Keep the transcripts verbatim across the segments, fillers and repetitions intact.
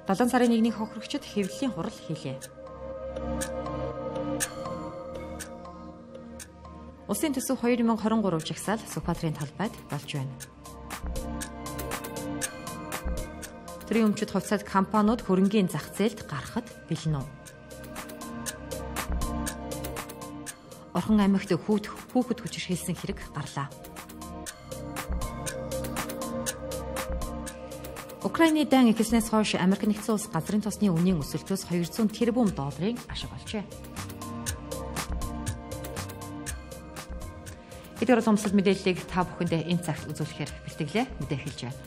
долоон сарын нэгний хохирогчид хэвлэлийн хурал хийлээ. Улсын төсөв хоёр мянга хорин гурав жагсаал Сүхбаатарын талбайд болж байна. Төрийн өмчөд хувьцаат компаниуд хөрөнгийн зах зээлд гарахад бэлэн үү? Орхон аймагт хүүхэд хүүхэд хүчирхийлсэн хэрэг гарлаа. Украины дан эхэлснээс хойш Америк нэгдсэн улс газрын тосны үнийн өсөлтөөс двести тэрбум долларын ашиг олжээ. Хэдгээр улсад мэдээллийг та бүхэндээ энэ цагт үзүүлэхээр бэлтгэлээ мэдээ хэлж байна.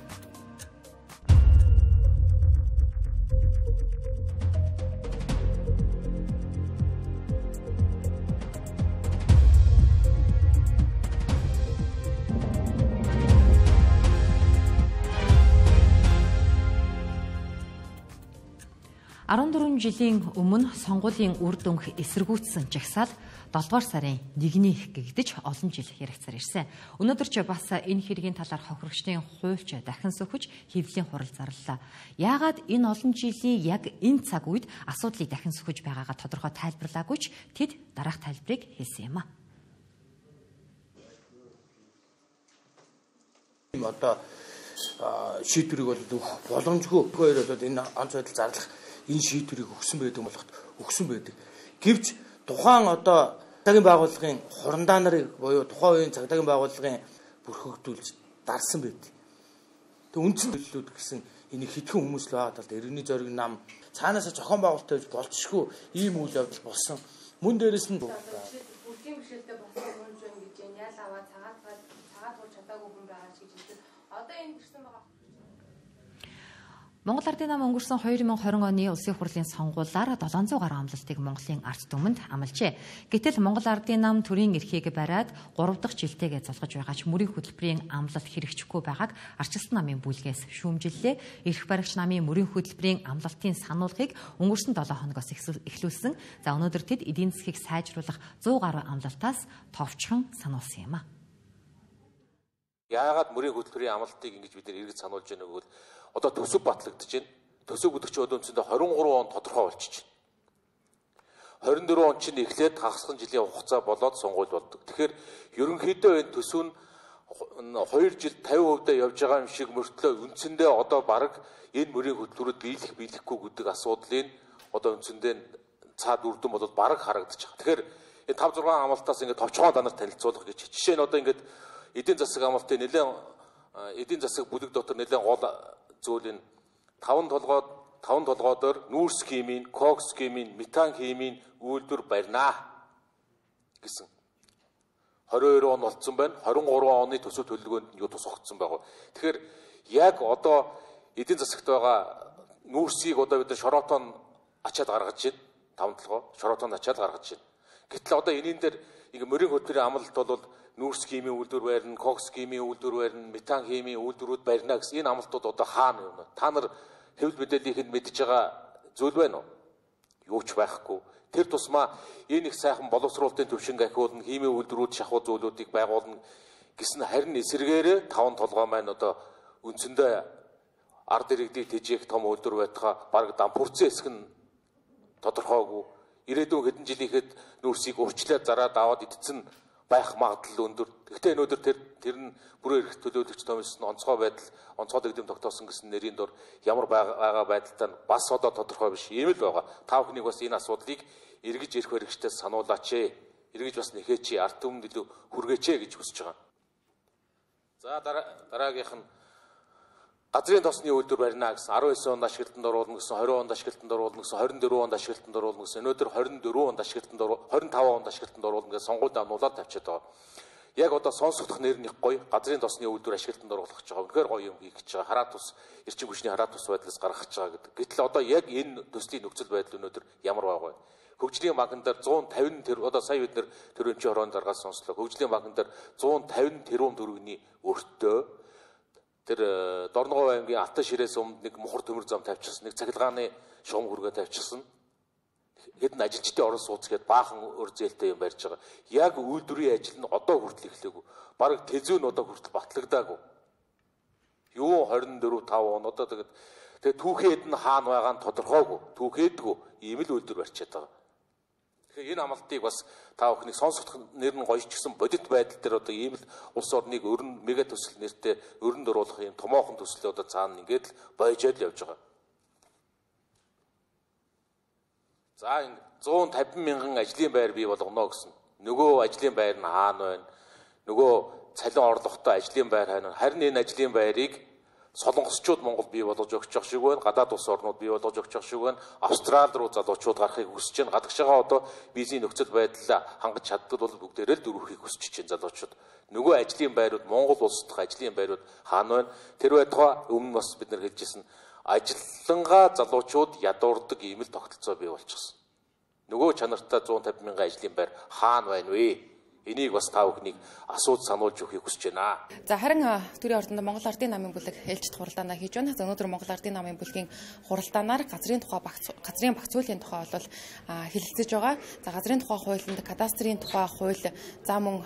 арван дөрвөн жилийн өмнө сонгуулийн үр дүнг эсэргүүцсэн жагсаал долдугаар сарын нэгний гэгдэж олон жил яригцаар ирсэн. Өнөөдөр ч бас энэ хэргийн талаар хохирогчдын хуульч дахин сөхөж хэвлэлийн хурал зарлалаа. Яагаад энэ олон жилийн яг энэ цаг үед асуудлыг дахин сөхөж байгаагаа тодорхой тайлбарлаагүй ч тэд дараах тайлбарыг хэлсэн юм а. Одоо шийдвэрийг бол боломжгүй хоёр бол энэ онц байдал зарлах энэ шийдвэрийг өгсөн байдаг болоход өгсөн байдаг. Гэвч тухайн одоо цагийн байгууллагын хурандаа нарыг буюу тухайн үеийн цагийн байгууллагын бүрхэгдүүлж дарсан байдаг. Тэг үндсэн төлөвлөлүүд гэсэн энийг хитгэн хүмүүс л байгаа талд иргэний зориг нам цаанаасаа зохион байгуулалт байж болцшгүй ийм үйл явдал болсон. Мөн дээрэс нь бүрдийн бэрхшээлтэй болсон хүн жин гэж ял аваа цагаат цагаат бол чадаагүй хүн байгаа ч гэж хэлсэн. Одоо энэ гэрсэн байгаа. Монгол Ардын нам өнгөрсөн хоёр мянга хорин оны улсын хурлын сонгуулиар долоон зуун гаруй амлалтыг Монголын ард түмэнд амлжээ. Гэтэл Монгол Ардын нам төрийн эрхийг бариад гурав дахь жилтэйгээ золгож байгаа ч мөрийн хөтөлбөрийн амлалт хэрэгжихгүй байгааг Арчилсан намын бүлгээс шүүмжиллээ. Эрх баригч намын мөрийн хөтөлбөрийн амлалтын сануулгыг өнгөрсөн долоо хоногоос эхлүүлсэн. За өнөөдөр тэд эдийн засгийг сайжруулах зуун гаруй амлалтаас товчхон сануулсан юм а. Яагаад мөрийн хөтөлбөрийн амлалтыг ингэж бид нэр эргэж сануулж байгааг бол одоо төсөв батлагдаж байна. Төсөв гэдэг чинь одоо үндсэндээ двадцать три он тодорхой болчихж байна. двадцать четыре он чинь эхлээд хагасхан жилийн хугацаа болоод сонгуул болдог. Тэгэхээр ерөнхийдөө энэ төсөв нь хоёр жил пενсент явж байгаа юм шиг мөртлөө үндсэндээ одоо баг энэ мөрийн хөтөлбөрөд биелэх биелэхгүй гэдэг асуудлыг одоо үндсэндээ цаад үрдэн болоод баг харагдаж байгаа. Тэгэхээр энэ тавь зургаан амлалтаас ингээд товчхон данар танилцуулах гэж. Жишээ нь одоо ингээд эдийн засаг амлалтын нэлээд эдийн засаг бүлэг дотор нэлээд гол зүйл нь таван толгой таван толгойдоор нүүрс химийн, кокс химийн, метан химийн үйлдвэр барьнаа гэсэн. двадцать two он болцсон байна. двадцать three оны төсөв төлөвлөгөөнд юу тусгагдсан байгаа. Тэгэхээр яг одоо эдийн засагт байгаа нүүрсийг одоо бид шороотон ачаад гаргаж байна. Таван толгой шороотон ачаад гаргаж байна. Гэтэл одоо энийн дээр ингээ мөрийн хөтөлбөрийн амлалт бол нүүрс химийн үйлдвэр барьна, кокс химийн үйлдвэр барьна, метан химийн үйлдвэрүүд барьна гэсэн энэ амлалтууд одоо хаана юм бэ? Та нар хэвлэл мэдээллийг мэдж байгаа зүйл байна уу? Юу ч байхгүй. Тэр тусмаа энэ их сайхан боловсруулалтын төвшинг ахиулна, химийн үйлдвэрүүд шахуу зүйлүүдийг байгуулна гэсэн харин эсэргээрээ таван толгой маань одоо үндсэндээ ард иргэдийг тэжээх том үйлдвэр байтугай баг дампуурсан хэсэг нь тодорхойгүй. Ирээдүйн хэдэн жилийнхэд нүүрсийг урьдчилаад зараад аваад идсэн байх магадлал өндөр. Гэхдээ өнөөдөр тэр тэр нь бүрэн эрх төлөөлөгч томилсон онцгой байдал, онцгой дэглэм тогтоосон гэсэн нэрийн дор ямар байгаа байдалтай бас одоо тодорхой биш юм л байгаа. Та бүхнийг бас энэ асуудлыг эргэж ирэх хэрэгжтэй сануулаач ээ. Эргэж бас нэхээч, ард түмэнд илүү хүргээч гэж хүсэж байгаа. За дараагийнх нь газрын тосны үйлдвэр барьна гэсэн дөрвөн онд ашиглалтанд оруулна гэсэн двадцать онд ашиглалтанд оруулна гэсэн двадцать четыре онд ашиглалтанд оруулна гэсэн өнөөдөр двадцать четыре онд ашиглалтанд двадцать five онд ашиглалтанд оруулна гэсэн сонгуульд амнуулаад тавьчихад байгаа. Яг одоо сонсогдох нэр нь их гоё газрын тосны үйлдвэр ашиглалтанд оруулах гэж байгаа. Үнэхээр гоё юм хийх гэж байгаа. Хараа тус эрчим хүчний хараа тус байдлаас гаргах гэж байгаа гэдэг. Гэтэл одоо яг энэ төслийн нөхцөл байдал өнөөдөр ямар байгаа вэ? Хөгжлийн банкн дээр one fifty тэр одоо сая бид нэр төрөнчийн хорон даргаас сонслоо. Хөгжлийн банкн дээр one fifty тэрбум төгрөгийн өртөө тэр Дорногов аймгийн Алтай ширээс өмнө нэг мухар төмөр зам тавьчихсан, нэг цахилгааны шугам хүргээ тавьчихсан. Хэдэн ажилчдын орон сууц гээд баахан өр зээлтэй юм барьж байгаа. Яг үйлдвэрийн ажил нь одоо хүртэл эхлэегүй. Бараг тэзүү нь одоо хүртэл батлагдаагүй. Юу двадцать four five он одоо тэгээд Тэгээ түүхэд нь хаана байгаа нь тодорхойгүй, түүхэдгүй ийм л үйлдвэр барьчаад байгаа. Тэгэхээр энэ амлалтыг бас та бүхнийг сонсох нэр нь гоё ч гэсэн бодит байдал дээр одоо ийм л улс орныг өрн мега төсөл нэртэй өрн дөрүүлэх юм томоохон төслөө одоо цаана ингээд л боёжоод явж байгаа. За зуун тавин мянган ажлын байр бий болгоно гэсэн. Нөгөө ажлын байр нь хаана байна? Нөгөө цалин орлоготой ажлын байр хайна. Харин энэ ажлын байрыг солонгосчууд Монгол бий болгож өгч явах шиг байна. Гадаад улс орнууд бий болгож өгч явах шиг байна. Австрали руу залуучууд гарахыг хүсэж байна. Гадагш байгаа одоо визийн нөхцөл байдал хангаж чаддаг бол бүгдээрээ л дөрвөхийг хүсэж чинь залуучууд. Нөгөө ажлын байрууд Монгол улс дахь ажлын байрууд хаана байна? Тэр байтугай өмнө бас бид нар хэлжсэн ажиллангаа залуучууд ядуурдаг ийм л тогтолцоо бий болчихсон. Нөгөө чанартай зуун тавин мянган ажлын байр хаана байна вэ? Энийг бас та бүхнийг асууж сануулж өгөхийг хүсэж байна. За харин төрийн ордонд Монгол Ардын намын бүлэг ээлжид хуралдаанаа хийж байна. За өнөөдөр Монгол Ардын намын бүлгийн хуралдаанаар газрын тухай газрын багц хуулийн тухай бол хэлэлцэж байгаа. За газрын тухай хуулинд кадастрын тухай хууль, за мөн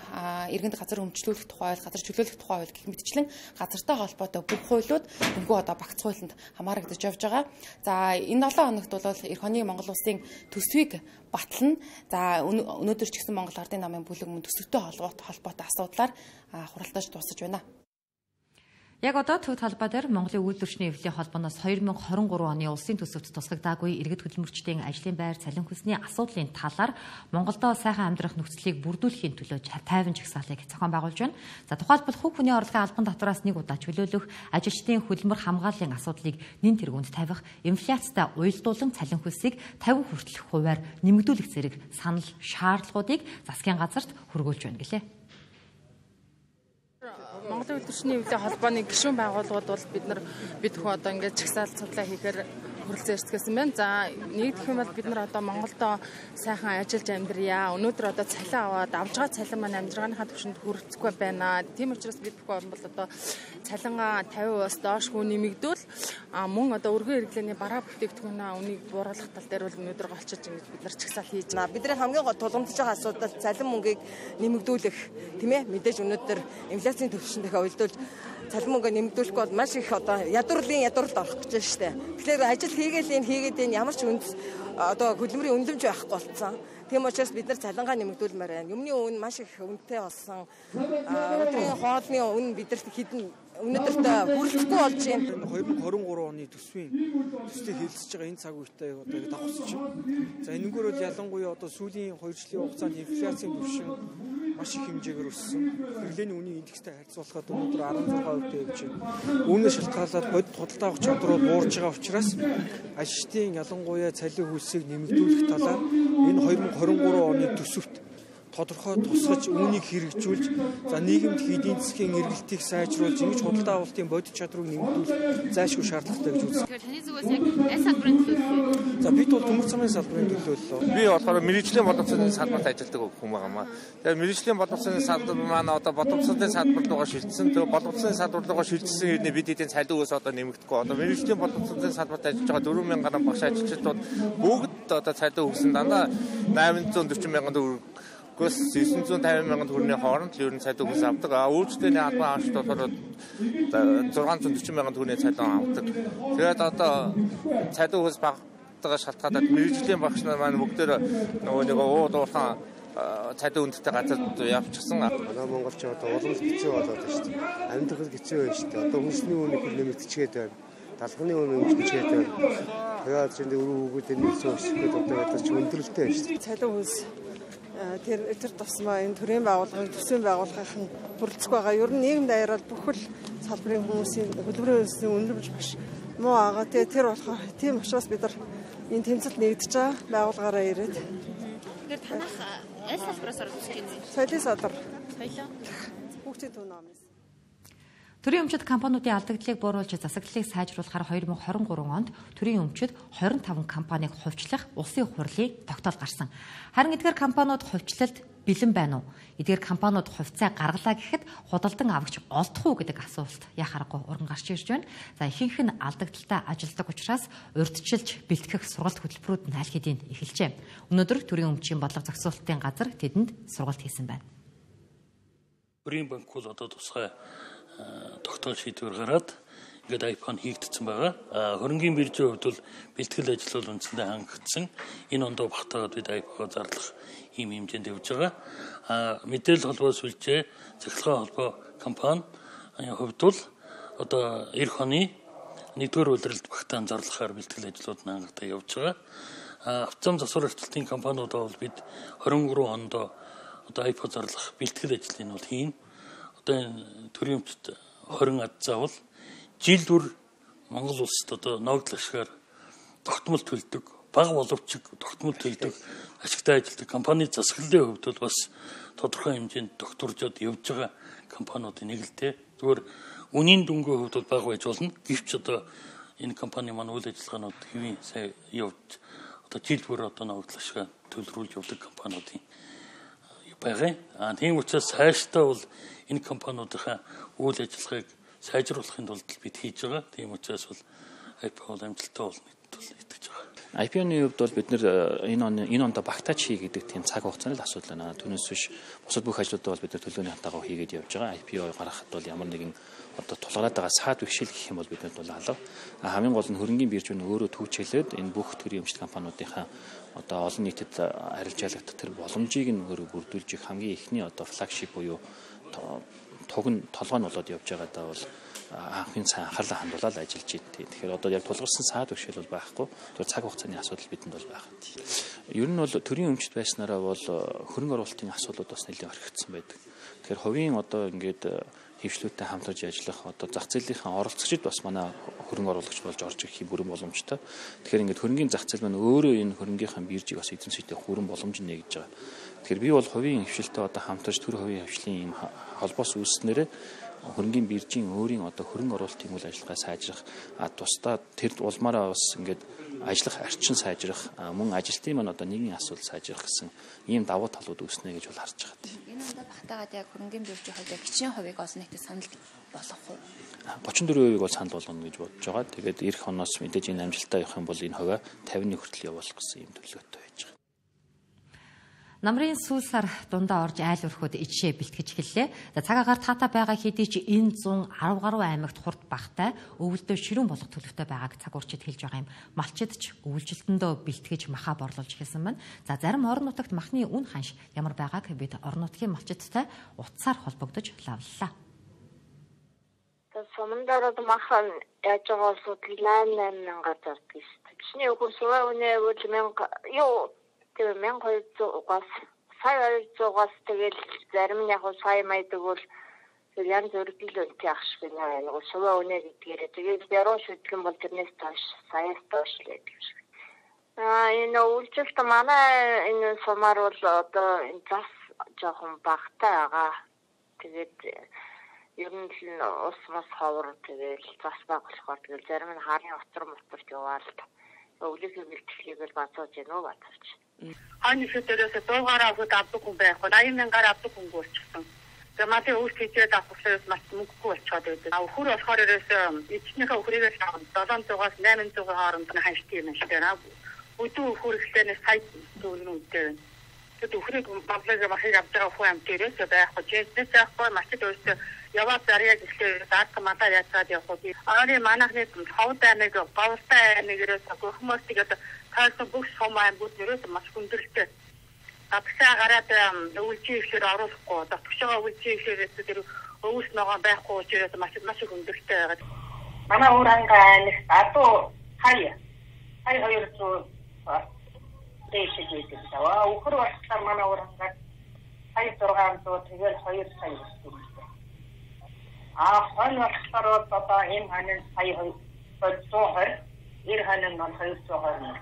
иргэнд газар өмчлүүлэх тухай хууль, газар чөлөөлөх тухай хууль гэх мэтчлэн газартай холбоотой бүх хуулиуд өнгөө одоо багц хуулинд хамаарагдаж явж байгаа. За энэ долоо хоногт бол эх оны Монгол улсын төсвийг батлана. За өнөөдөр ч гэсэн Монгол Ардын намын бүлэг мөн төсөвтэй холбоотой асуудлаар хуралдаж дуусаж байна. Яг одоо төв талбай дээр Монголын үйлдвэрчний эвлэлийн холбооноос хоёр мянга хорин гурван оны улсын төсөвт тусгагдаагүй иргэд хөдөлмөрчдийн ажлын байр цалин хөлсний асуудлын талаар Монголдо сайхан амьдрах нөхцөлийг бүрдүүлэхийн төлөө тайван жагсаалыг зохион байгуулж байна. За тухайлбал хувь хүний орлогын албан татвараас нэг удаа чөлөөлөх, ажилчдын хөдөлмөр хамгааллын асуудлыг нэн тэргуунд тавих, инфляцтай уялдуулан цалин хөлсийг тавин хүртэлх хувиар нэмэгдүүлэх зэрэг санал шаардлагуудыг засгийн газарт хүргүүлж байна гэлээ. Монголын үйлдвэрчний эвлэлийн холбооны гишүүн байгууллагууд бол бид нар бид хөө одоо ингээд чагсаалт судлаа хийхээр хүрэлцэн эрсгэсэн байна. За нэгдэх юм бол бид нар одоо Монголдо сайхан ажиллаж амьдрья. Өнөөдөр одоо цалин аваад авж байгаа цалин маань амжиргааныхаа түвшинд хүрэлцэхгүй байна. Тийм учраас бид бүхэн бол одоо цалингаа тавин перцент-аас доошгүй нэмэгдүүл мөн одоо өргөн хэрэглээний бараа бүтээгдэхүүнээ үнийг бууруулах тал дээр бол өнөөдөр голчиж ингэж бид нар чагсаал хийж байна. Бидний хамгийн гол тулгамдж байгаа асуудал цалин мөнгийг нэмэгдүүлэх тийм ээ. Мэдээж өнөөдөр инфляцийн түвшинд дахиад уялдуулж цалин мөнгө нэмэгдүүлэхгүй бол маш их одоо ядуурлын ядуурд орох гэж байна шүү дээ. Тэгэхээр ажил хийгээл энэ хийгээд энэ ямар ч үнд одоо хөдөлмөрийн үнэлэмж байхгүй болсон. Тийм учраас бид нар цалингаа нэмэгдүүлмээр байна. Юмны үн маш их үнэтэй болсон. Өдрийн хоолны үн бидэрт хідэн өнөөдөртөө хүрэлцэхгүй болж байна. хоёр мянга хорин гурван оны төсвийн төслийг хэлэлцэж байгаа энэ цаг үетэй одоо давхцаж байна. За энэгээр бол ялангуяа одоо сүүлийн хоёр жилийн хугацаанд инфляцийн түвшин маш их хэмжээгээр өссөн. Хэрэглээний үнийн индекстэй харьцуулахад өнөөдөр арван зургаан хувитай явж байна. Үүнээс шалтгаалаад бодит худалдаа авах чадвар буурж байгаа учраас ажилчдын ялангуяа цалин хөлсийг нэмэгдүүлэх талаар энэ хоёр мянга хорин гурван оны төсөвт тодорхой тусгаж үүнийг хэрэгжүүлж за нийгэмд эдийн засгийн эргэлтийг сайжруулж ингэж худалдаа авалтын бодит чадварыг нэмэгдүүлэх зайлшгүй шаардлагатай гэж үздэг. Тэгэхээр таны зүгээс яг аль салбарын төлөөлөл вэ? За бид бол төмөр замын салбарын төлөөллөө. Би болохоор мэргэжлийн боловсролын салбарт ажилладаг хүн байгаамаа. Тэгэхээр мэргэжлийн боловсролын салбар маань одоо боловсролын салбар руугаа шилжсэн. Тэгээ боловсролын салбар руугаа шилжсэн хэрнээ бид эдийн цалин өөс одоо нэмэгдэхгүй. Одоо мэргэжлийн боловсролын салбарт ажиллаж байгаа дөрвөн мянган гаруй багш ажилчид бүгд одоо цалин өгсөн дандаа найман зуун дөрвөн мянган төгрөг Гос девятьсот пятьдесят мянган төгрөгийн хооронд л ер нь цалин хөлс авдаг. А үйлчлэлийн албан авч болохоор шестьсот сорок мянган төгрөгийн цалин авдаг. Тэгээд одоо цалин хөлс багтаага шалтгаалаад мэргэжлийн багш нар маань бүгдээр нөгөө нэг ууд уурхаан цалин үнэтэй газарт явчихсан. Манай монголч одоо уламж хэцүү болоод байна шүү дээ. Амьд хөл хэцүү байна шүү дээ. Одоо хүнсний үнийг нэмэгдчихээд байна. Талхны үнийг нэмэгдчихээд байна. Тэгээд чинь өрөө хүүгүүдийн нийлсэн өсгөхөд одоо ядаж өндөрлөлттэй байна шүү дээ. Цалин хөлс тэр тэр тусмаа энэ төрийн байгууллагын төсвийн байгууллагын хүрэлцэх байгаа. Ер нь нийгэм даяараа бүх л салбарын хүмүүсийн хөдөлмөрийн үндэсний үнэлэмж маш муу байгаа. Тэгээ тэр болохоор тийм учраас бид нар энэ тэмцэлд нэгдэж байгаа байгууллагаараа ирээд. Тэгэхээр танах аль салбараас орж ирж байна? Соёлын салбар. Соёлоо. Хүүхдийн төв номын. Төрийн өмчит компаниудын алдагдлыг бууруулж засаглалыг сайжруулахаар хоёр мянга хорин гурван онд төрийн өмчит двадцать пять компанийг хувьчлах улсын хурлын тогтоол гарсан. Харин эдгээр компаниуд хувьчлалд бэлэн байна уу? Эдгээр компаниуд хувьцаа гаргалаа гэхэд худалдан авагч олдох уу гэдэг асуулт яхаарахгүй уран гарч ирж байна. За ихэнх нь алдагдaltaй ажилдаг учраас урьдчилж бэлтгэх сургалт хөтөлбөрүүд нь аль хэдийн эхэлжээ. Өнөөдөр төрийн өмчийн бодлого зохицуулалтын газар тэдэнд сургалт хийсэн байна. Төрийн банк бол одоо тусгай тогтоол шийдвэр гараад ингээд iPhone хийгдсэн байгаа. Хөрөнгийн биржийн хувьд бол бэлтгэл ажил бол үндсэндээ хангагдсан. Энэ ондоо багтаагаад бид iPhone зарлах ийм хэмжээнд явж байгаа. Мэдээлэл холбоо сүлжээ, цахилгаан холбоо компани хувьд бол одоо эх оны нэгдүгээр улиралд багтаан зарлахаар бэлтгэл ажлууд хангагдаа явж байгаа. Автозам засвар арчилтын компаниудаа бол бид хорин гурван онд одоо iPhone зарлах бэлтгэл ажлыг нь бол хийн. Одоо энэ төрийн өмчт хорин ад заавал жил бүр Монгол улсад одоо ногдол ашгаар тогтмол төлдөг, бага боловч тогтмол төлдөг ашигтай ажилладаг компани засаглалын хувьд бол бас тодорхой хэмжээнд докторжоод явж байгаа компаниудын нэг л дээ. Зүгээр үнийн дүнгийн хувьд бол бага байж болно. Гэвч одоо энэ компани маань үйл ажиллагаанууд хэвийн сайн явж одоо жил бүр одоо ногдол ашгаар төлрүүлж явдаг компаниудын байгаа. А тийм учраас цаашдаа бол энэ компаниудынхаа үйл ажиллагааг сайжруулахын тулд бид хийж байгаа. Тийм учраас бол iPhone амжилттай болно гэж итгэж байгаа. iPhone-ны хувьд бол бид нэр энэ он энэ онд багтаач хий гэдэг тийм цаг хугацааны л асуудал байна. Түүнээс биш бусад бүх ажлуудаа бол бид нар төлөөний хатаагаа хийгээд явж байгаа. ай пи о гаргахад бол ямар нэгэн одоо тулгараад байгаа саад бишэл гэх юм бол биднэрт бол алга. Хамгийн гол нь хөрөнгийн бирж нь өөрөө түүчээлээд энэ бүх төрлийн эмчилгээ компаниудынхаа одоо олон нийтэд арилжаалагдах тэр боломжийг нь өөрөө бүрдүүлж их хамгийн ихний одоо флагшип буюу туг нь толгой нь болоод явж байгаадаа бол анхны сайн анхаарлаа хандуулаад ажиллаж байна. Тэгэхээр одоо яг тулгарсан саад бишэл бол байхгүй. Тэр цаг хугацааны асуудал бидэнд бол байгаа. Ер нь бол төрийн өмчт байснараа бол хөрөнгө оруулалтын асуудлууд бас нэлээд орхигдсан байдаг. Тэгэхээр хувийн одоо ингээд хөвшлүүдтэй хамтарч ажиллах одоо зах зээлийнхаа оролцогчид бас манай хөрөнгө оруулагч болж орж ирэх бүрэн боломжтой. Тэгэхээр ингээд хөрөнгөний зах зээл маань өөрөө энэ хөрөнгөний биржийг бас эзэмших бүрэн боломж нэгж байгаа. Тэгэхээр би бол хувийн хөвшлтэй одоо хамтарч төр хувийн хөвшлийн ийм холбоос үүснээрээ хөрөнгөний биржийн өөрийн одоо хөрөнгө оруулалтын үйл ажиллагаа сайжрах а тусдаа тэр улмаараа бас ингээд ажиллах арчин сайжрах мөн ажилтны маань одоо нийгмийн асуудал сайжрах гэсэн ийм давуу талууд үүснэ гэж бол харж байгаа. Энэ ондоо багтаагаад яг хөрөнгөний биржийн хувьд гिचийн хувийг олон нийтэд санал болгох уу? гучин дөрвөн хувийг бол санал болгоно гэж бодож байгаа. Тэгээд эх оноос мэдээж энэ амжилттай явах юм бол энэ хувиа тавины хүртэл явуулах гэсэн ийм төлөвлөгөөтэй байж байгаа. Намрын сүүл сар дундаа орж айл өрхөд ичээ бэлтгэж эхэллээ. Цаг агаар таата байгаа хэдий ч энэ зүүн арав гаруй аймагт хурд багтай өвөлдөө ширүүн болох төлөвтэй байгааг цаг уурчид хэлж байгаа юм. Малчид ч өвөлжилтөндөө бэлтгэж маха борлуулж эхэлсэн байна. За зарим орон нутагт махны үн ханш ямар байгааг бид орон нутгийн малчидтай утсаар холбогдож лавллаа. Сумандараад махан яаж байгаа улсууд найман мянгаар зардаг шүү дээ. Чиний өгөх суваа үнэ үл мянга юу тэр мянга хоёрдугаас сая хоёрдугаас тэгэл зарим нь яг сая майдаг бол янз бүрийн үнэтэй ах шиг байна. Нэг суваа үнэ гэдгээр тэгээд яруу шүтлэн бол тэрнээс тоош саяас тоош л гэдэг шиг. Аа энэ үйлчлэлт манай энэ сумаар бол одоо энэ зас жоохон багтай байгаа. Тэгээд ер нь л ус мас ховор тэгэл зас баг болохоор тэгэл зарим нь харын утар моторт яваал өвлөгийн бэлтгэлийг л бацааж гэнэ үү бацаач. Ани федерээс дуугаараа хот авдаг хүн байхгүй. аян мянгаар авдаг хүн болчихсон. Тэгээ мати өөрт хийгээд авахлаас маш мөнгөгүй болчиход байдаг. А өхөр болохоор ерөөс эцнийхээ өхрийгээс долоон зугаас найман зугийн хооронд нь ханштай юм шиг байна. Өдөө өхөр ихлээр сайт дүүрэн үдээ. Тэгээд өхрийг баглаа махыг авч байгаа хүн амтэрээс байхгүй. Жинсээс байхгүй мачид өөртөө яваад зарьяа гэхлээр даатга мата яцаад явах уу. Ари манахны хавдаа нэг говстай нэг ерөөс гөхмөстиг одоо таарсан бүх сум аймагуд ерөөс маш хүндрэлтэй. Татгшаа гараад өвөлжийн ихлээр оруулахгүй. Татгшаа өвөлжийн ихлээрээс тэр өвс ногоон байхгүй учраас маш маш хүндрэлтэй байгаад. Манай уур ангаа аймагт адуу хаяа. Хай хоёр зуун дэшиг гэдэг даа. Өхөр болохоор манай уур ангаа хай зургаан зуун тэгэл хоёр сая гэсэн. А хон болохоор одоо энэ ханын сая хоёр зуун хоёр эр ханын нь хоёр зуун хоёр.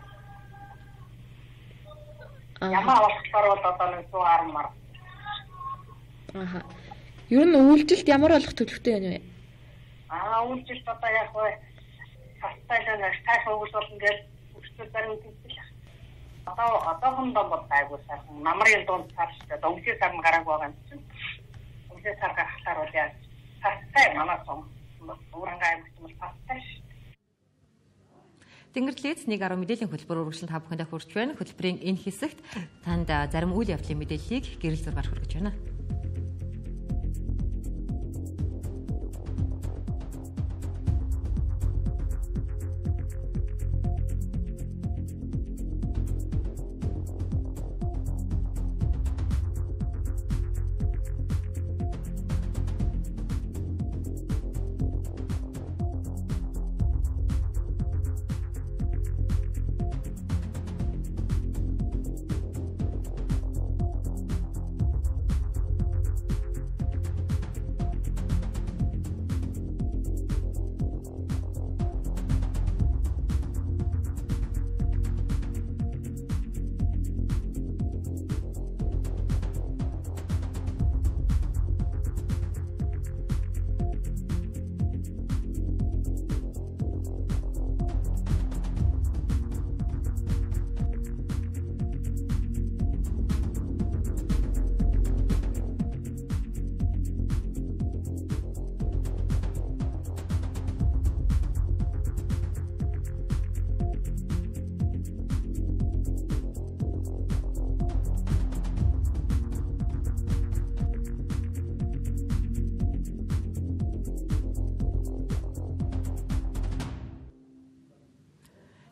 Ямаа болохоор одоо нэг зуун арван мар. Аха. Ер нь үйлдэлт ямар болох төлөвтэй байна вэ? Аа үйлдэлт одоо яг хөө хастайлаа стаф өгөх болно гэж өчтөр зарим үзсэн. Одоо одоохондоо бол айгуу сайхан намрын дунд цаашдаа өнгөсөн сар нь гарааг байгаа юм чинь. Өнгөсөн сар гарахлаар бол яа хастай манай сон уурангай мэтмэл хастай. Тэнгэрлэгц нэг арав мэдээллийн хөтөлбөр үргэлжлэн та бүхэндээ хүрч байна. Хөтөлбөрийн энэ хэсэгт танд зарим үйл явдлын мэдээллийг гэрэл зургаар хүргэж байна.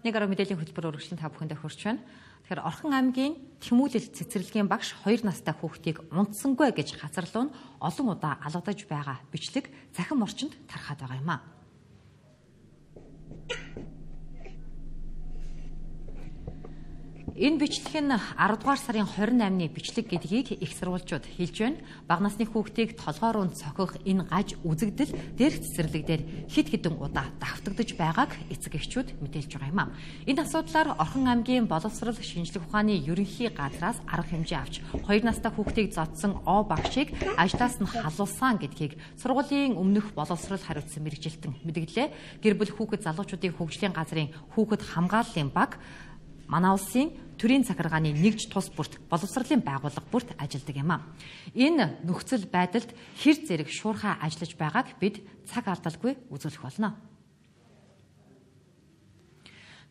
Нэг арга мэдээллийн хөтөлбөр өргөжлөн та бүхэндээ хүрч байна. Тэгэхээр Орхон аймгийн Тэмүүлэл цэцэрлэгийн багш хоёр настай хүүхдийг унтсангүй гэж хацарлуун олон удаа алгадаж байгаа бичлэг захин орчинд тархаад байгаа юм а. Энэ бичлэг нь арав дугаар сарын хорин наймны бичлэг гэдгийг их сурвалжууд хэлж байна. Бага насны хүүхдийг толгоор нь цохих энэ гаж үзэгдэл дээрх цэцэрлэгдэр хэд хэдэн удаа давтагдж байгааг эцэг эхчүүд мэдээлж байгаа юм а. Энэ асуудлаар Орхон аймгийн боловсрол шинжилгээ ухааны ерөнхий газраас арга хэмжээ авч хоёр настай хүүхдийг зодсон О багшийг ажлаас нь халуулсан гэдгийг сургуулийн өмнөх боловсрол хариуцсан мэргэжилтэн мэдгэлээ. Гэр бүл хүүхэд залуучуудын хөгжлийн газрын хүүхэд хамгааллын баг манай улсын төрийн захиргааны нэгж тус бүрт боловсролын байгууллага бүрт ажилладаг юм а. Энэ нөхцөл байдалд хэр зэрэг шуурхай ажиллаж байгааг бид цаг алдалгүй үзүүлэх болно.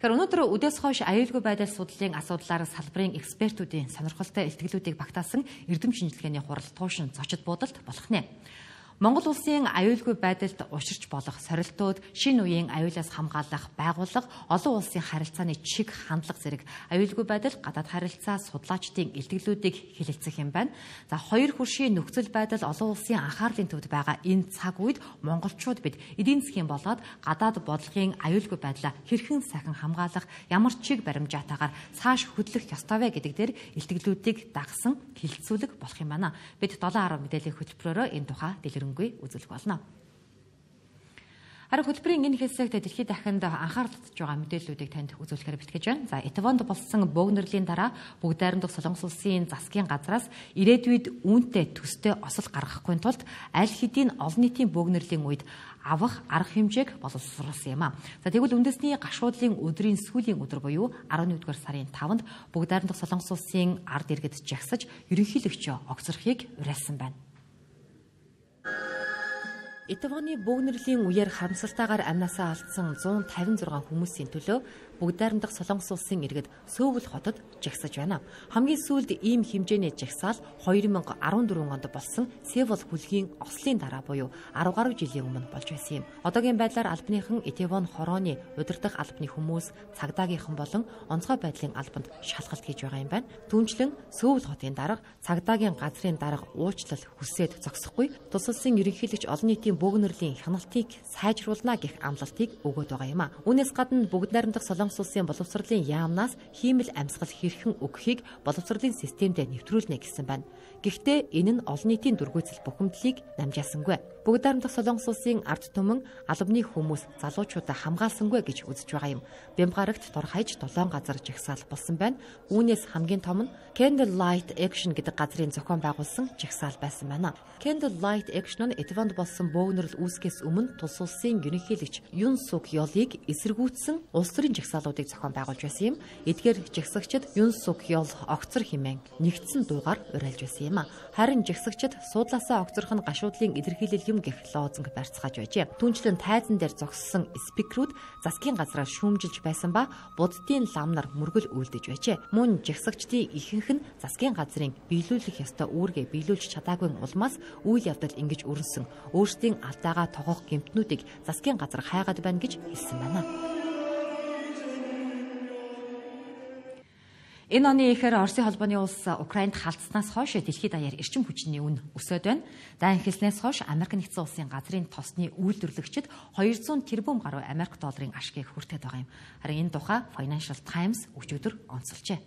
Тэгэхээр өнөөдөр үдээс хойш аюулгүй байдал судлалын асуудлаар салбарын экспертүүдийн сонирхолтой илтгэлүүдийг багтаасан эрдэм шинжилгээний хурал туушин зочид буудалд болох нэ. Монгол улсын аюулгүй байдалд учирч болох сорилтууд, шинэ үеийн аюулаас хамгаалах байгууллага, олон улсын харилцааны чиг хандлага зэрэг аюулгүй байдал гадаад харилцаа судлаачдын илтгэлүүдийг хэлэлцэх юм байна. За хоёр хөршийн нөхцөл байдал олон улсын анхаарлын төвд байгаа энэ цаг үед монголчууд бид эдийн засгийн болоод гадаад бодлогын аюулгүй байдлаа хэрхэн сахин хамгаалах, ямар чиг баримжаатаагаар цааш хөдлөх ёстой вэ гэдэг дээр илтгэлүүдийг дагсан хэлэлцүүлэг болох юм байна. Бид долоон арга мэдээллийн хөтөлбөрөөрөө энэ тухай дэлгэрэнгүй үзүүлэх болно. Харин хөтөлбөрийн энэ хэсэгт дэлхийд дахинд анхаарал татж байгаа мэдээллүүдийг танд үзүүлэхээр бэлтгэж байна. За, Этавонд болсон бөөгнөрлийн дараа бүгд найрамдах Солонгос улсын засгийн газраас ирээдүйд үүнтэй төстэй осол гаргахгүй тулд аль хэдийн олон нийтийн бөөгнөрлийн үед авах арга хэмжээг боловсруулсан юм а. За, тэгвэл үндэсний гашуудлын өдрийн сүүлийн өдөр буюу арван нэгдүгээр сарын таванд бүгд найрамдах Солонгос улсын ард иргэд жагсаж ерөнхийлөгчөө огцорхийг уриалсан байна. Этавоны бөөгнөрлийн үеэр харамсалтайгаар амнасаа алдсан зуун тавин зургаан хүмүүсийн төлөө бүгд найрамдах Солонгос улсын иргэд Сөүл хотод жагсаж байна. Хамгийн сүүлд ийм хэмжээний жагсаал хоёр мянга арван дөрвөн онд болсон Сеул хүлгийн ослын дараа буюу арав гаруй жилийн өмнө болж байсан юм. Одоогийн байдлаар албаныхан Этавон хорооны удирдах албаны хүмүүс цагдаагийнхан болон онцгой байдлын албанд шалгалт хийж байгаа юм байна. Түүнчлэн Сөүл хотын дарга цагдаагийн газрын дарга уучлал хүсээд зогсохгүй тус улсын ерөнхийлөгч олон нийтийн бөөгнөрлийн хяналтыг сайжруулна гэх амлалтыг өгөөд байгаа юм а. Үүнээс гадна бүгд найрамдах Солонгос улсын боловсролын яамнаас хиймэл амьсгал хэрхэн өгөхийг боловсролын системдээ нэвтрүүлнэ гэсэн байна. Гэхдээ энэ нь олон нийтийн дүргүйцэл бухимдлыг намжаасангүй. Бүгд найрамдах Солонгос улсын ард түмэн албаны хүмүүс залуучуудаа хамгаалсангүй гэж үзэж байгаа юм. Бямгарагт дорхайж долоон газар жагсаал болсон байна. Үүнээс хамгийн том нь Candlelight Action гэдэг газрын зохион байгуулсан жагсаал байсан байна. Candlelight Action нь Этавонд болсон бөөгнөрл үүсгэхээс өмнө тус улсын ерөнхийлөгч Юн Сук Ёлыг эсэргүүцсэн улс төрийн жагсаалуудыг зохион байгуулж байсан юм. Эдгээр жагсагчид Юн Сук Ёл огцор хэмээн нэгдсэн дуугаар уриалж байсан юм а. Харин жагсагчид суудлаасаа огцорх нь гашуудлын илэрхийлэл юм гэх лозунг барьцгааж байжээ. Түүнчлэн тайзан дээр зогссон спикерүүд засгийн газраас шүүмжилж байсан ба буддын лам нар мөргөл үйлдэж байжээ. Мөн жагсагчдын ихэнх нь засгийн газрын биелүүлэх ёстой үүргээ биелүүлж чадаагүй улмаас үйл явдал ингэж өрнсөн. Өөрсдийн алдаагаа тогоох гэмтнүүдийг засгийн газар хайгаад байна гэж хэлсэн байна. Энэ оны эхээр Оросын холбооны улс Украинд халдснаас хойш дэлхийд даяар эрчим хүчний үн өсөд байна. Дайн хэлснээс хойш Америк нэгдсэн улсын газрын тосны үйлдвэрлэгчид хоёр зуун тэрбум гаруй Америк долларын ашгийг хүртээд байгаа юм. Харин энэ тухай Financial Times өчигдөр онцолжээ.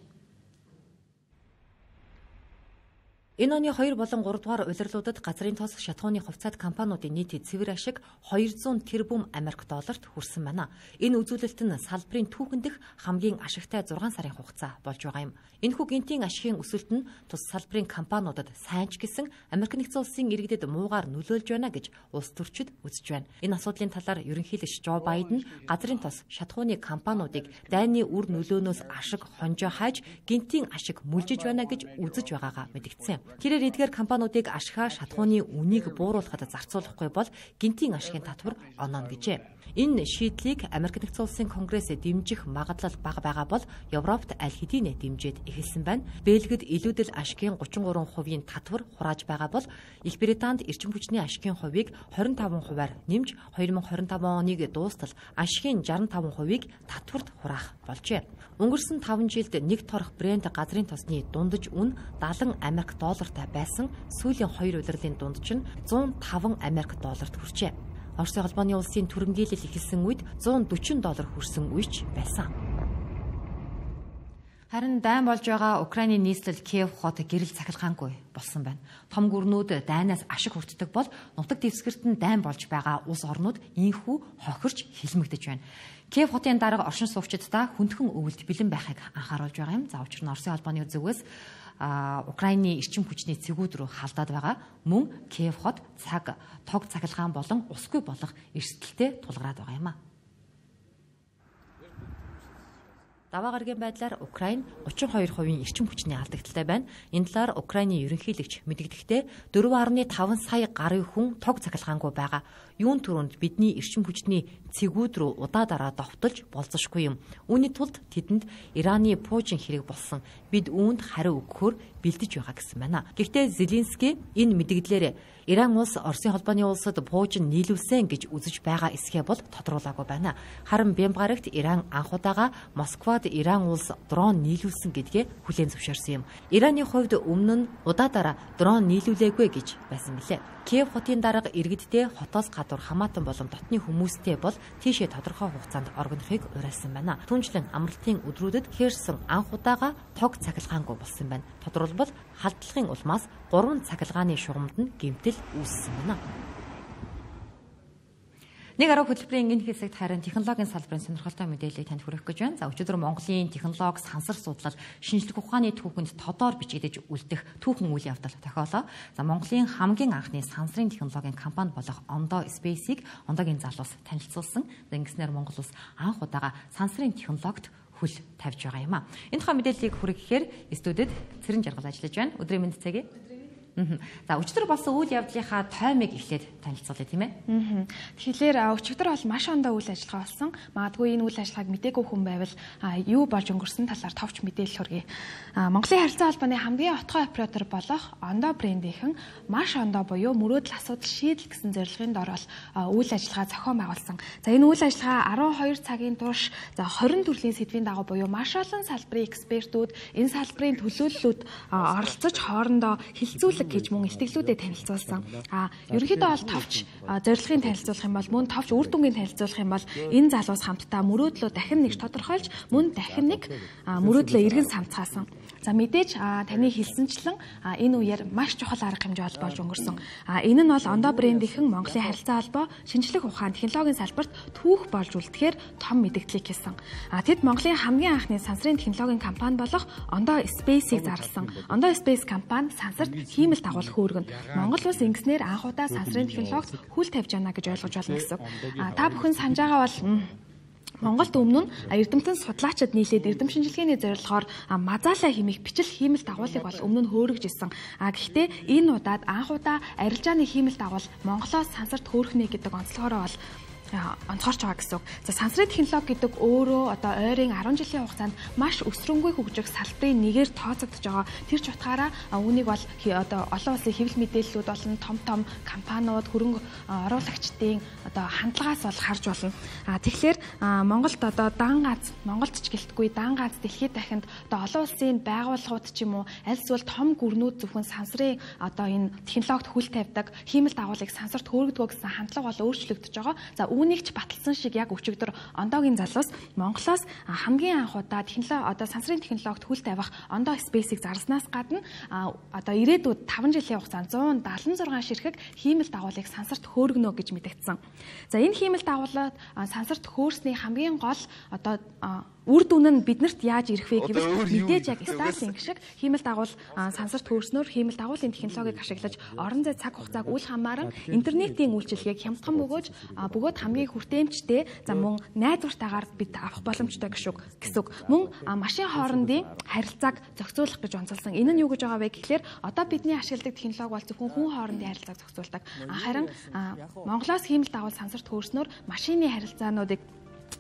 Энэ оны хоёр болон гурав дугаар улирлуудад газрын тос шатхууны хувьцаат компаниудын нийт цэвэр ашиг хоёр зуун тэрбум Америк долларт хүрсэн байна. Энэ үзүүлэлт нь салбарын түүхэн дэх хамгийн ашигтай зургаан сарын хугацаа болж байгаа юм. Энэхүү гинтийн ашигын өсөлт нь тус салбарын компаниудад сайн ч гэсэн Америк нэгдсэн улсын иргэдэд муугаар нөлөөлж байна гэж улс төрчид үзэж байна. Энэ асуудлын талаар ерөнхийлөгч Жо Байден газрын тос шатхууны компаниудыг дайны үр нөлөөнөөс ашиг хонжоо хайж гинтийн ашиг мүлжиж байна гэж үзэж байгаагаа мэдгдсэн. Тэрээр эдгээр компаниудыг ашигаа шатхууны үнийг бууруулахад зарцуулахгүй бол гинтийн ашигын татвар ононо гэжээ. Энэ шийдлийг Америк нэгдсэн улсын Конгресс дэмжих магадлал бага байгаа бол Европт аль хэдийнэ дэмжиж эхэлсэн байна. Бельгид илүүдэл ашигын гучин гурван хувийн татвар хурааж байгаа бол Их Британд эрчим хүчний ашигын хувийг двадцать пять хувиар нэмж две тысячи двадцать пять оныг дуустал ашигын шестьдесят пять хувийг татварт хураах болжээ. Өнгөрсөн таван жилд нэг торох Брент газрын тосны дундаж үн севен Америк доллартай байсан сүүлийн хоёр улирлын дундаж нь one hundred five Америк долларт хүрчээ. Оросын холбооны улсын түрэмгийлэл эхэлсэн үед one hundred forty доллар хүрсэн үеч байсан. Харин дайн болж байгаа Украины нийслэл Киев хот гэрэл цахилгаангүй болсон байна. Том гүрнүүд дайнаас ашиг хүртдэг бол нутаг дэвсгэрт нь дайн болж байгаа улс орнууд инхүү хохирч хилмигдэж байна. Киев хотын дарга оршин суугчдаа хүндхэн өвөлд бэлэн байхыг анхааруулж байгаа юм. За учир нь Оросын холбооны зүгээс Украины эрчим хүчний цэгүүд рүү халдаад байгаа. Мөн Киев хот цаг тог цахилгаан болон усгүй болох эрсдэлтэй тулгараад байгаа юм а. Даваа гарагийн байдлаар Украин thirty-two хувийн эрчим хүчний алдагдaltaй байна. Энэ талаар Украины ерөнхийлөгч мэдэгдэхдээ four point five сая гаруй хүн тог цахилгаангүй байгаа. Юун түрүүнд бидний эрчим хүчний цэгүүд рүү удаа дараа довтолж болзошгүй юм. Үүний тулд тэдэнд Ираны Путин хэрэг болсон. Бид үүнд хариу өгөхөөр бэлдэж байгаа гэсэн байна. Гэхдээ Зеленский энэ мэдэгдлээр Иран улс Оросын холбооны улсад Путин нийлүүлсэн гэж үзэж байгаа эсхэ бол тодруулаагүй байна. Харин Бямбарагт Иран анх удаага Москвад Иран улс дрон нийлүүлсэн гэдгээ хүлээн зөвшөөрсөн юм. Ираны хувьд өмнө нь удаадараа дрон нийлүүлээгүй гэж байсан мэлээ. Киев хотын дарга иргэддээ хотоос гадуур хамаатан болон дотны хүмүүстэй бол тийшээ тодорхой хугацаанд оргинохыг уриалсан байна. Түүнчлэн амралтын өдрүүдэд Херсон анх удаага тог цахилгаангүй болсон байна. Тодорхойлбол халдлагын улмаас гурван цахилгааны шугамд нь гэмтэл үүссэн байна. Нэг арга хөтөлбөрийн энэ хэсэгт харин технологийн салбарын сонирхолтой мэдээллийг танд хүргэх гэж байна. За өчигдөр Монголын технологи сансар судлал шинжлэх ухааны түүхэнд тодоор бичигдэж үлдэх түүхэн үйл явдал тохиолоо. За Монголын хамгийн анхны сансрын технологийн компани болох Ондоо Space-ийг Ондоогийн залуус танилцуулсан. Ингэснээр Монгол улс анх удаага сансрын технологид хөл тавьж байгаа юм а. Энэ тухай мэдээллийг хүргэхээр студид Цэрэн Жаргал ажиллаж байна. Өдрийн мэнд цагийг. За өчигдөр болсон үйл явдлынхаа таймыг эхлээд танилцуулъя тийм ээ. Тэгэхээр өчигдөр бол маш ондоо үйл ажиллагаа болсон. Магадгүй энэ үйл ажиллагааг мдээгүй хүн байвал юу болж өнгөрсөн талаар товч мэдээлэл хүргэе. Монголын харилцаа холбооны хамгийн отгой оператор болох Ондоо брендийнхэн маш ондоо буюу мөрөөдөл асуудал шийдэл гэсэн зорилгын дор бол үйл ажиллагаа зохион байгуулсан. За энэ үйл ажиллагаа twelve цагийн турш за twenty төрлийн сэдвийн дагуу буюу маш олон салбарын экспертүүд энэ салбарын төлөөллүүд оролцож хоорондоо хилцүүлэг гэж мөн илтгэлүүдэд танилцуулсан. А ерөнхийдөө бол товч зорилгын танилцуулах юм бол мөн товч үр дүнгийн танилцуулах юм бол энэ залуус хамтдаа мөрөөдлөө дахин нэг тодорхойлж мөн дахин нэг мөрөөдлөө эргэн самцгаасан. За мэдээж таны хэлсэнчлэн энэ үеэр маш чухал арга хэмжээ болж өнгөрсөн. Энэ нь бол Ондоо брендийнхэн Монголын харилцаа холбоо, шинжлэх ухаан, технологийн салбарт түүх болж үлдэхээр том мэдээлэл хийсэн. Тэд Монголын хамгийн анхны сансрын технологийн компани болох Ондоо Space-ийг зарласан. Ондоо Space компани сансарт хиймэл дагуулх үүргэн. Монгол улс ингэснээр анх удаа сансрын технологид хүл тавьж байна гэж ойлгож байна гэсэн. Та бүхэн санаж байгаа бол Монголд өмнө нь эрдэмтэн судлаачид нийлээд эрдэм шинжилгээний зорилгоор мазаалаа хэмээх бичил хиймэл дагуулыг бол өмнө нь хөөргөж исэн. А гэхдээ энэ удаад анх удаа арилжааны хиймэл дагуул Монголоос сансарт хөөрхнэ гэдэг онцлогоороо бол онцгорч байгаа гэсэн үг. За сансрын технологи гэдэг өөрөө одоо ойрын ten жилийн хугацаанд маш өсрөнгүй хөгжих салбарын нэгээр тооцогдож байгаа. Тэр ч утгаараа үүнийг бол одоо олон улсын хэвлэл мэдээллүүд болон том том компаниуд, хөрөнгө оруулагчдын одоо хандлагаас бол харж болно. А тэгэхээр Монголд одоо дан гац, Монголд ч гэлтгүй дан гац дэлхийд дахинд одоо олон улсын байгууллагууд ч юм уу аль эсвэл том гүрнүүд зөвхөн сансрын одоо энэ технологид хүл тавьдаг, хиймэл дагуулыг сансарт хөөргөдгөө гэсэн хандлага бол өөрчлөгдөж байгаа. За үүнийг ч баталсан шиг яг өчигдөр Ондоогийн залуус Монголоос хамгийн анх удаа технологи одоо сансрын технологид хүл тавих Ондоо Space-ийг зарлснаас гадна одоо ирээдүйд five жилийн хугацаанд one seventy-six ширхэг хиймэл дагуулыг сансарт хөөргөнө гэж мэдэгдсэн. За энэ хиймэл дагуулад сансарт хөөрсний хамгийн гол одоо үр дүн нь биднэрт яаж ирэх вэ гэвэл мэдээж яг Starlink шиг хиймэл дагуул сансарт хөрснөөр хиймэл дагуулын технологиг ашиглаж орон зай цаг хугацааг үл хамааран интернетийн үйлчилгээг хямдхан бөгөөж бөгөөд хамгийн хүртээмжтэй за мөн найдвартайгаар бид авах боломжтой гэсэн үг. Мөн машин хоорондын харилцааг зохицуулах гэж онцолсон. Энэ нь юу гэж байгаа вэ гэхлээр одоо бидний ашигладаг технологи бол зөвхөн хүн хоорондын харилцааг зохицуулдаг. Харин Монголоос хиймэл дагуул сансарт хөрснөөр машины харилцаануудыг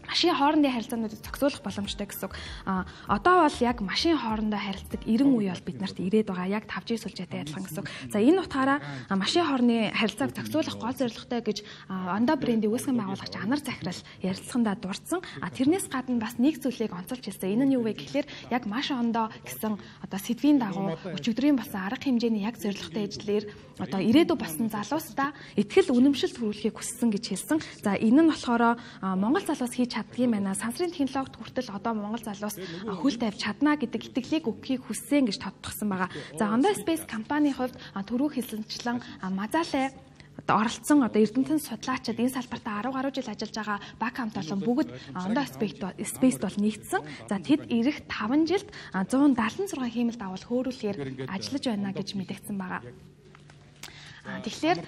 машин хоорондын харилцаануудыг зохицуулах боломжтой гэсэн үг. А одоо бол яг машин хоорондоо харилцдаг эрен үе бол биднэрт ирээд байгаа. Яг five G сүлжээтэй адилхан гэсэн үг. За энэ утгаараа машин хоорондын харилцааг зохицуулах гол зорилготой гэж Ондоо брендийн үүсгэн байгуулагч Анар Захирал ярилцлагандаа дурдсан. А тэрнээс гадна бас нэг зүйлийг онцолж хэлсэн. Энэ нь юу вэ гэхлээр яг маш ондоо гэсэн одоо сэдвийн дагуу өчигдрийн болсон арга хэмжээний яг зорилготой ажлаар одоо ирээдүй болсон залуустаа итгэл үнэмшилт хүрүүлэхийг хүссэн гэж хэлсэн. За энэ нь болохоор Монгол залуус хийж чаддгийм байна. Сансрын технологид хүртэл одоо Монгол залуус хөл тавьж чадна гэдэг итгэлийг өгөхийг хүссэн гэж тодтогсон байгаа. За Ондоо Space компанийн хувьд түрүү хэлсэнчлэн Мазалай оролцсон одоо Эрдэнэтийн судлаачид энэ салбартаа ten гаруй жил ажиллаж байгаа баг хамт олон бүгд Ондоо Space-д бол нэгдсэн. За тэд ирэх five жилд one seventy-six хиймэл дагуул хөөрүүлэхээр ажиллаж байна гэж мэдэгдсэн байгаа. Тэгэхээр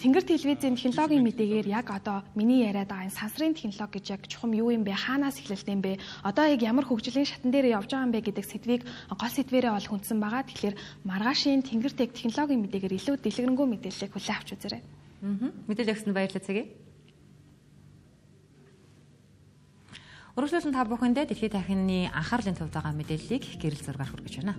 тэнгэр телевизийн технологийн мэдээгээр яг одоо миний яриад байгаа энэ сансрын технологи гэж яг чухам юу юм бэ? Хаанаас эхлэлтэй юм бэ? Одоо яг ямар хөгжлийн шатан дээр явж байгаа юм бэ гэдэг сэдвийг гол сэдвэрээ бол хүндсэн байгаа. Тэгэхээр маргаашийн тэнгэр тех технологийн мэдээгээр илүү дэлгэрэнгүй мэдээллийг хүлээн авч үзээрэй. Аа. Мэдээлэл өгсөнд баярлалаа цагийг. Өргөжлүүлэн та бүхэндээ дэлхийн тахилны анхаарлын төвд байгаа мэдээллийг гэрэл зургаар хүргэж байна.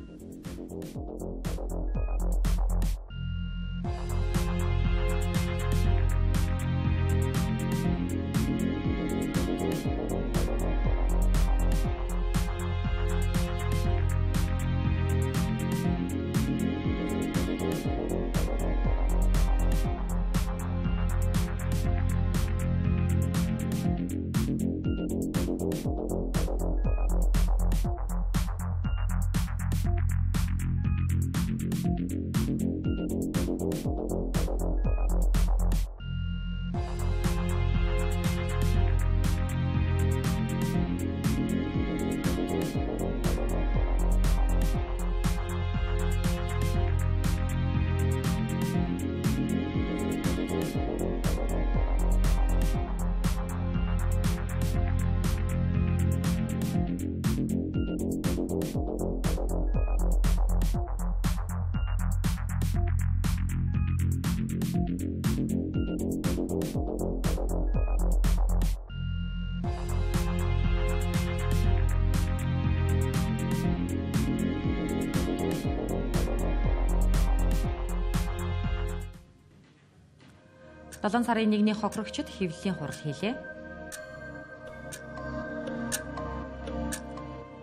seven сарын нэгний хохирогчид хэвлэлийн хурал хийлээ.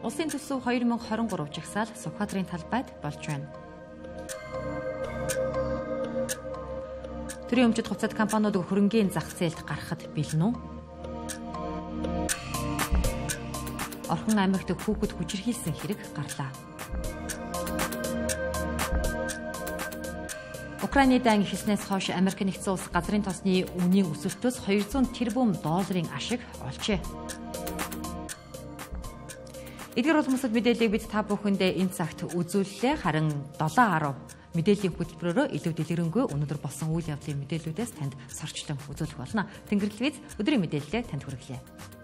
Улсын төсөв twenty twenty-three жагсаал Сүхбаатарын талбайд болж байна. Төрийн өмчит хувьцат компаниуд хөрөнгийн зах зээлд гарахад бэлэн үү? Орхон аймагт хүүхэд хүчирхийлсэн хэрэг гарлаа. Украины дан эхэлснээс хойш Америк нэгдсэн улс газрын тосны үнийн өсөлтөөс two hundred тэрбум долларын ашиг олжээ. Эдгээр улмсад мэдээллийг бид та бүхэндээ энэ цагт үзүүллээ. Харин seven ten мэдээллийн хөтөлбөрөөрөө илүү дэлгэрэнгүй өнөөдөр болсон үйл явдлын мэдээллүүдээс танд сорчлон үзүүлэх болно. Тэнгэр телевиз өдрийн мэдээлэлээ танд хүргэлээ.